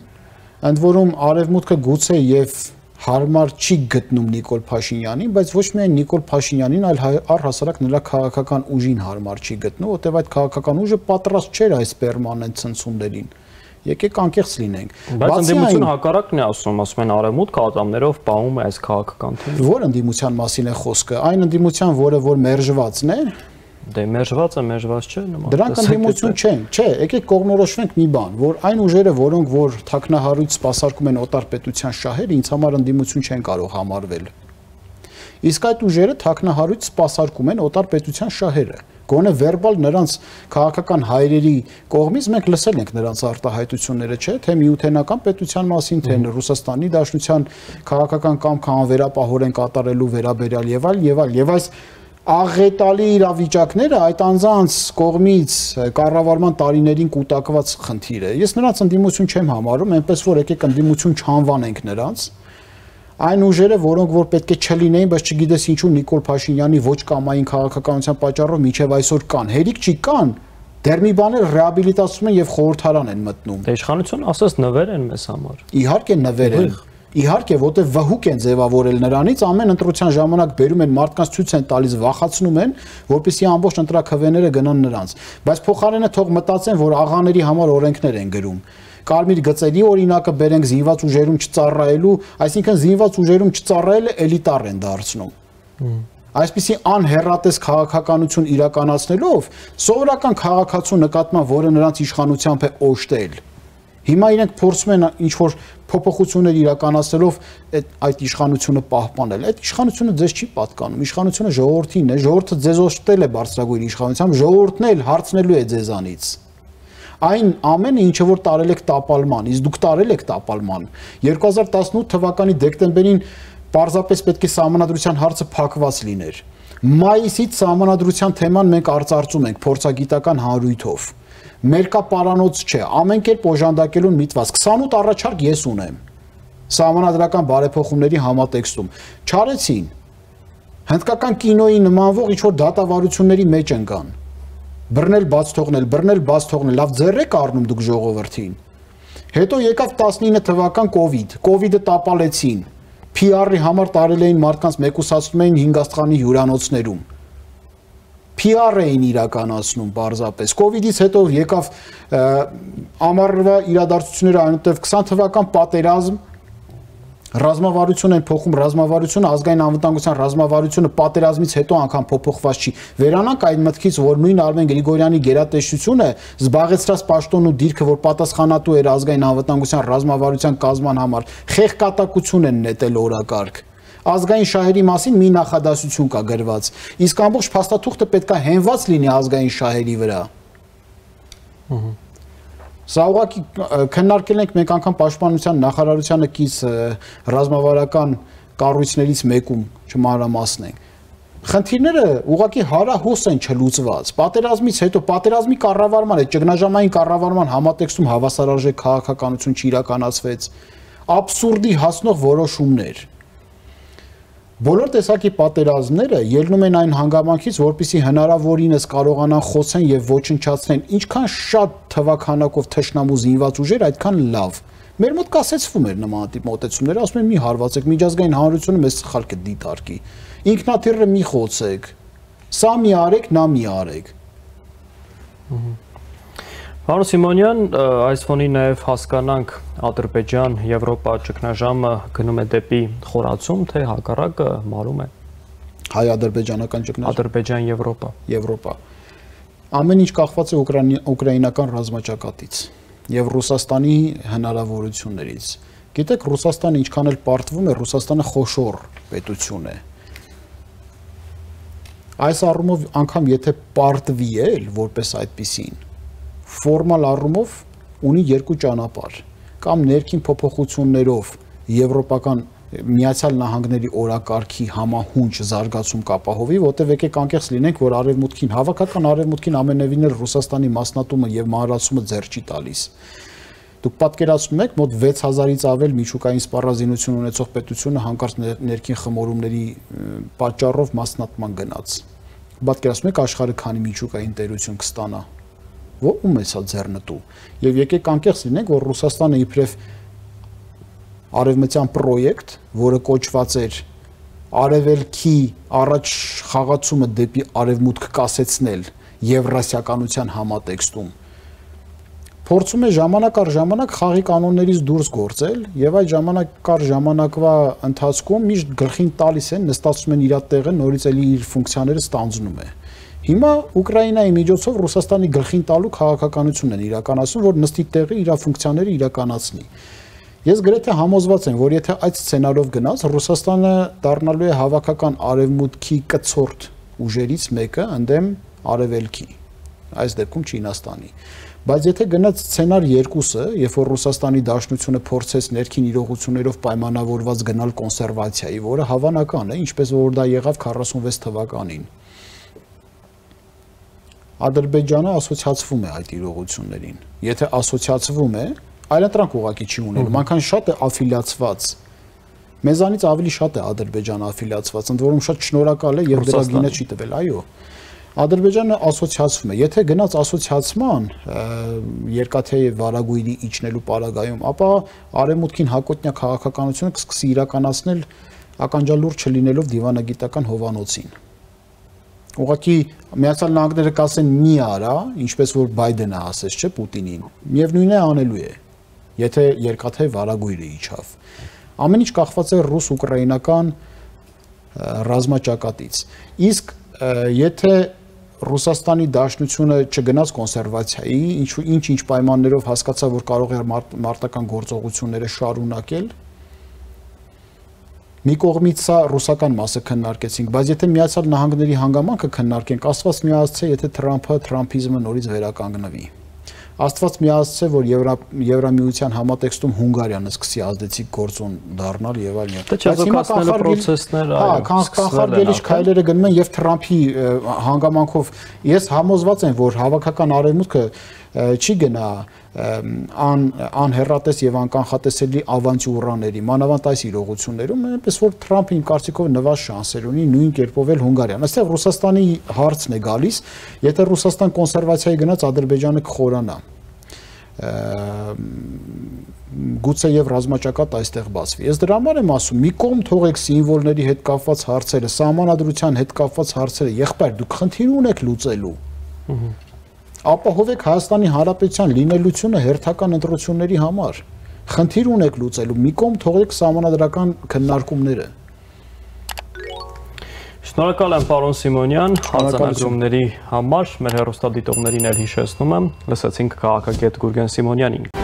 ընդ որում արևմուտքը գուցե եւ հարմար չի գտնում Նիկոլ Փաշինյանին, բայց ոչ միայն Նիկոլ Փաշինյանին, այլ առհասարակ նրա քաղաքական ուժին հարմար չի գտնում, որտեղ այդ քաղաքական ուժը պատրաստ չէր այս պերմանենտ ցնցումներին։ Եկեք անկեղծ լինենք։ Բայց ընդդիմությունը հակառակն է ասում են արևմուտքը ատամներով պահում է այս քաղաքական թեման։ Որ ընդդիմության մասին է խոսքը, այն ընդդիմության, որը որ մերժվածն է, Դե մերժված չէ նման։ Դրանք ընդդիմություն չեն, չէ, եկեք կողմնորոշվենք մի բան, որ այն ուժերը, որոնք որ թաքնահարույց սպասարկում են օտար պետության շահերը, ինձ համար ընդդիմություն չեն կարող համարվել։ Իսկ այդ ուժերը թաքնահարույց սպասարկում են օտար պետության շահերը։ Գոնե վերբալ նրանց քաղաքական հայրերի կողմից մենք լսել ենք նրանց արտահայտությունները, չէ՞, թե միութենական պետության մասին, թե Ռուսաստանի Դաշնության քաղաքական կամքը անվերապահորեն կատարելու վերաբերյալ եւ այլ, եւ այս աղետալի իրավիճակները այդ անձանց կողմից կառավարման տարիներին կուտակված խնդիր է։ Ես նրանց ընդդիմություն չեմ համարում, այնպես որ եկեք ընդդիմություն չանվանենք նրանց։ Այն ուժերը, որոնք որ պետք է չլինեին, բայց չգիտես ինչու Նիկոլ Փաշինյանի ոչ կամային քաղաքականության պատճառով մինչև այսօր կան։ Հերիք չի կան, դեռ մի բաներ ռեաբիլիտացում են եւ խորհրդարան են մտնում։ Դե իշխանությունը ասես նվեր են մեզ համար։ Իհարկե նվեր են։ Իհարկե, որտեղ վհուկ են ձևավորել նրանից, ամեն ընտրության ժամանակ բերում են մարդկանց ցույց են տալիս, վախացնում են, որպեսզի ամբողջ ընտրաքվեները գնան նրանց։ Բայց փոխարենը թող մտածեն, որ աղաների համար օրենքներ են գրում։ Կարմիր գծերի օրինակը բերենք զինված ուժերում չծառայելու, այսինքն զինված ուժերում չծառայելը էլիտար են դարձնում։ Այսպիսի անհեռատես քաղաքականություն իրականացնելով սովորական քաղաքացու նկատմամբ, որը նրանց իշխանությամբ է օժտել։ Հիմա իրենք փորձում են ինչ-որ փոփոխություններ իրականացնելով այդ իշխանությունը պահպանել։ Այդ իշխանությունը ձեզ չի պատկանում, իշխանությունը ժողովրդին է, ժողովուրդը ձեզ օժտել է բարձրագույն իշխանությամբ, ժողովուրդն էլ հարցնելու է ձեզանից։ Այն ամենը ինչը որ տարել եք տապալման, իսկ դուք տարել եք տապալման։ 2018 թվականի դեկտեմբերին պարզապես պետք է սահմանադրության հարցը փակված լիներ։ Մայիսից սահմանադրության թեման մենք արծարծում ենք փորձագիտական հանրույթով։ Մերկապարանոց չէ, ամեն կերպ օժանդակելուն միտված 28 առաջարկ ես ունեմ սահմանադրական բարեփոխումների համատեքստում չարեցին հնդկական կինոյի նմանվող ինչ-որ դատավարությունների մեջ ընկան բռնել բաց թողնել լավ ձեռ եք առնում դուք ժողովրդին հետո եկավ 19 թվական կովիդը տապալեցին PR-ի համար տարել էին մարդկանց մեկուսացնում էին 5 աստղանի հյուրանոցներում PR էին իրականացնում բարձապես կովիդից հետո եկավ ամառվա իրադարձությունները այնուհետև 20 թվական պատերազմ ռազմավարություն են փոխում ռազմավարությունը ազգային անվտանգության ռազմավարությունը պատերազմից հետո անգամ փոփոխված չի վերանանք այդ մտքից որ նույն Արմեն Գրիգորյանի գերատեսչությունը զբաղեցրած պաշտոնն ու դիրքը որ պատասխանատու էր ազգային անվտանգության ռազմավարության կազման համար խեղկատակություն են նետել օրակարգ ազգային շահերի մասին մի նախադասություն կա գրված իսկ ամբողջ փաստաթուղթը պետքա հենված լինի ազգային շահերի վրա Սա ուղղակի քննարկել ենք մենք անգամ պաշտպանության նախարարությանը կից ռազմավարական կառույցներից մեկում չմանրամասնենք խնդիրները ուղղակի հարահոս են չլուծված պատերազմից հետո պատերազմի կառավարման այդ ճգնաժամային կառավարման համատեքստում հավասարարժեք քաղաքականություն չիրականացվեց աբսուրդի հասնող որոշումներ Բոլոր տեսակի պատերազմները ելնում են այն հանգամանքից, որպեսզի հնարավորինս կարողանան խոցեն եւ ոչնչացնեն, ինչքան շատ թվականակով թշնամու զինված ուժեր, այդքան լավ։ Մեր մոտ կասեցվում էր նման տիպ մոտեցումներ, ասում են մի հարվածեք, միջազգային հանրությունը մեզ սխալ կդիտարկի։ Ինքնաթիռը մի խոցեք։ Սա մի արեք, նա մի արեք։ Պարոն Սիմոնյան, այս ֆոնի նաև հասկանանք Ադրբեջան, Եվրոպա ճգնաժամը գնում է դեպի խորացում, թե հակառակը մարում է։ Հայ-ադրբեջանական ճգնաժամ։ Ադրբեջան-Եվրոպա։ Եվրոպա։ Ամեն ինչ կախված է ուկրաինական ռազմաճակատից եւ Ռուսաստանի հնարավորություններից։ Գիտեք, Ռուսաստանը ինչքան էլ պարտվում է, Ռուսաստանը խոշոր պետություն է։ Այս առումով անգամ եթե պարտվի էլ որպես այդպիսին Ֆորմալ առումով ունի երկու ճանապարհ կամ ներքին փոփոխություններով եվրոպական Միացյալ Նահանգների օրակարգի համահունչ զարգացում կապահովի, որտեղ եկեք անկեղծ լինենք, որ արևմուտքին հավաքական արևմուտքին ամենևին էլ Ռուսաստանի մասնատումը եւ մանրացումը ձեռ չի տալիս։ Դուք պատկերացնում եք, մոտ 6000-ից ավել միջուկային սպառազինություն ունեցող պետությունը հանկարծ ներքին խմորումների պատճառով մասնատման գնաց։ Պատկերացնում եք աշխարհը քանի միջուկային տերություն կստանա։ Ո՞ում է սա ձեռնտու։ Եվ եկեք անկեղծ լինենք, որ Ռուսաստանը իբրև արևմտյան պրոյեկտ, որը կոչված էր արևելքի առաջ խաղացումը դեպի արևմուտք կասեցնել եվրասիականության համատեքստում, փորձում է ժամանակ առ ժամանակ խաղի կանոններից դուրս գործել եւ այդ ժամանակ առ ժամանակվա ընթացքում միշտ գլխին տալիս են, նստացնում են իր տեղը, նորից էլի իր ֆունկցիաները ստանձնում է։ Հիմա Ուկրաինայի միջոցով Ռուսաստանի գլխին տալու քաղաքականությունն են իրականացնում, որ նստի տեղի իր ֆունկցիաները իրականացնի։ Ես գրեթե համոզված եմ, որ եթե այդ սցենարով գնաց, Ռուսաստանը դառնալու է հավաքական արևմուտքի կցորդ ուժերից մեկը ընդդեմ արևելքի, այս դեպքում Չինաստանի։ Բայց եթե գնաց սցենար 2-ը, երբ որ Ռուսաստանի Դաշնությունը փորձեց ներքին իրողություններով պայմանավորված գնալ կոնսերվացիայի, որը հավանական է, ինչպես որ դա եղավ 46 թվականին։ Ադրբեջանը ասոցիացվում է այդ իրողություններին։ Եթե ասոցիացվում է, այլընտրանք ուղղակի չի ունենում, այնքան շատ է աֆիլիացված։ Մեզանից ավելի շատ է Ադրբեջանը աֆիլիացված, ընդ որում շատ շնորհակալ է եւ դրա գինը չի տվել, այո։ Ադրբեջանը ասոցիացվում է։ Եթե գնաց ասոցիացման երկաթեի վարագույրի իջնելու պարագայում, ապա արևմուտքին հակոտնյա քաղաքականությունը կսկսի իրականացնել ականջալուր չլինելով դիվանագիտական հովանոցին։ Ուղղակի Միացյալ Նահանգները կասեն մի արա, ինչպես որ Բայդենը ասեց, չէ, Պուտինին։ Միևնույնն է անելու է, եթե երկաթեի վարագույրը իջավ։ Ամեն ինչ կախված է ռուս-ուկրաինական ռազմաճակատից։ Իսկ եթե Ռուսաստանի Դաշնությունը չգնաց կոնսերվացիայի, ինչ պայմաններով հասկացավ, որ կարող է մարտական գործողությունները շարունակել, մի կողմից սա ռուսական մասը քննարկեցինք, բայց եթե Միացյալ Նահանգների հանգամանքը քննարկենք, Աստված միացցե, եթե Թրամփը Թրամփիզմը նորից վերականգնվի։ Աստված միացցե, որ Եվրամիության համատեքստում Հունգարիան սկսի ազդեցիկ գործոն դառնալ եւ այլն։ Կանխարգելիչ քայլերը գնում են եւ Թրամփի հանգամանքով ես համոզված եմ, որ հավաքական արևմուտքը չի գնա անհեռատես եւ անկանխատեսելի ավանտյուրաների, մանավանդ այս իրողություններում, այնպես որ Թրամփը իմ կարծիքով նվազ շանսեր ունի նույն կերպով էլ Հունգարիան։ Այստեղ Ռուսաստանի հարցն է գալիս, եթե Ռուսաստան կոնսերվացիայի գնաց, Ադրբեջանը կխորանա։ Գուցե եւ ռազմաճակատ այստեղ բացվի։ Ես դրա համար եմ ասում, մի կողմ թողեք սիմվոլների հետ կապված հարցերը, սահմանադրության հետ կապված հարցերը, եղբայր դուք խնդիր ունեք լուծելու։ Ապահովեք Հայաստանի Հանրապետության լինելությունը հերթական ընտրությունների համար։ Խնդիր ունեք լուծելու, մի կողմ թողեք սահմանադրական քննարկումները։ Շնորհակալ եմ պարոն Սիմոնյան, արձանագրումների համար, մեր հեռուստադիտողներին էլ հիշեցնում եմ, լսեցինք քաղաքագետ Գուրգեն Սիմոնյանին։